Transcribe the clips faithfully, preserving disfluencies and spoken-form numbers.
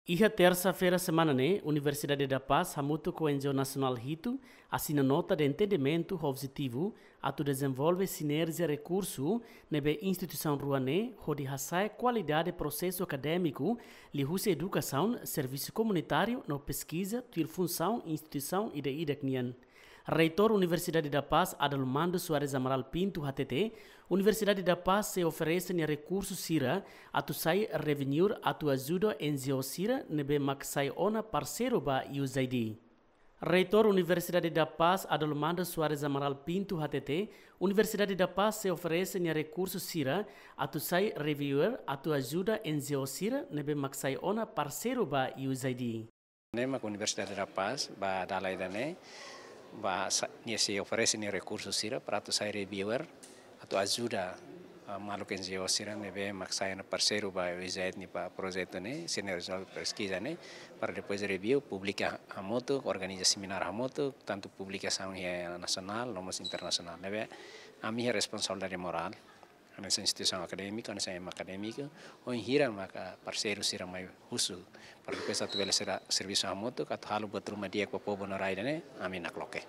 Iha tersa-feira semana ne'e, Universidade da Paz hamutuk ho N G O nasionál hitu asina nota de entendimentu ho objetivu atu dezenvolve sinerjia rekursu ne'ebé instituisaun rua ne'e hodi hasa'e kualidade prosesu akadémiku liuhusi edukasaun, servisu komunitáriu no peskiza tuir funsaun instituisaun ida-idak nian. Reitór Universidade da Paz, Adalmando Soares Amaral Pinto, hatete, Universidade da Paz sei oferese nia rekursu sira atu sai revenue atu ajuda N G O sira ne'ebé mak sai ona parseiru ba U S A I D. Reitór Universidade da Paz, Adalmando Soares Amaral Pinto, hatete, Universidade da Paz sei oferese nia rekursu sira atu sai reviewer atu ajuda N G O sira ne'ebé mak sai ona parseiru ba U S A I D. Ne'e mak Universidade da Paz, ba dala ida-ne'e, ba sa-, nia sei oferese nia rekursu sira para atu sai reviewer, atu ajuda, ah, maluk N G O sira ne'ebé mak sai ona parseiru ba U S A I D ninia projetu ne'e, sira-nia rezultadu peskiza ne'e, para depois review, publika hamutuk, organiza semináriu hamutuk, tantu publikasaun iha nasionál, no mós internasionál. Ne'ebé, ami iha responsabilidade morál, hanesan instituisaun akadémika, hanesan ema akadémiku, oinsá maka parseiru sira mai husu, para depois atu bele sira servisu hamutuk, atu halo buat ruma di'ak ba povu no rai ida-ne'e, ami nakloke.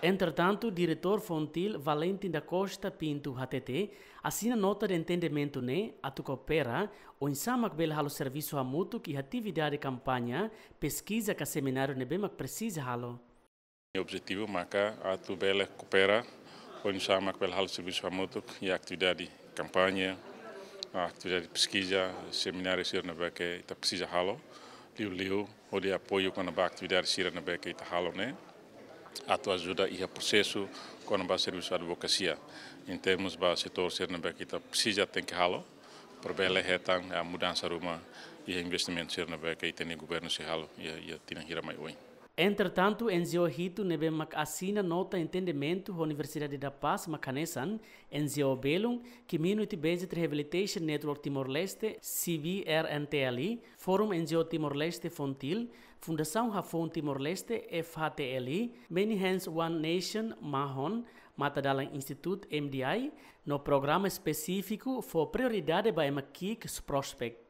Entretantu, Diretór Fontil, Valentim da Costa Pinto, hatete, asina nota de entendimentu ne'e atu koopera, oinsá mak bele halo servisu hamutuk iha atividade kampaña, peskiza ka semináriu ne'ebé mak presiza halo. Objetivu maka atu bele koopera, oinsá mak bele halo servisu hamutuk iha atividade kampaña, atividade peskiza, semináriu sira ne'ebé ke ita presiza halo, liuliu hodi apoiu kona-ba atividade sira ne'ebé ke ita halo ne'e, atu ajuda iha prosesu kona-ba servisu advokasia, em termos ba setór sira ne'ebé ke ita presiza tenke halo, para bele hetan, ah, mudansa ruma iha investimentu sira ne'ebé ke ita-nia governu sei halo iha, iha tinan hira mai oin. Entretantu, N G O hitu ne'ebé mak asina nota entendimentu ho Universidade da Paz mak hanesan, N G O Belun, Community Based Rehabilitation Network Timor-Leste, C B R N T L, Forum N G O Timor-Leste Fontil, Fundasaun Hafoun Timor-Leste, F H T L, Many Hands One Nation, Mahon, Matadalan Institute, M D I, no programa espesífiku fó prioridade ba ema ki'ik, Prospect.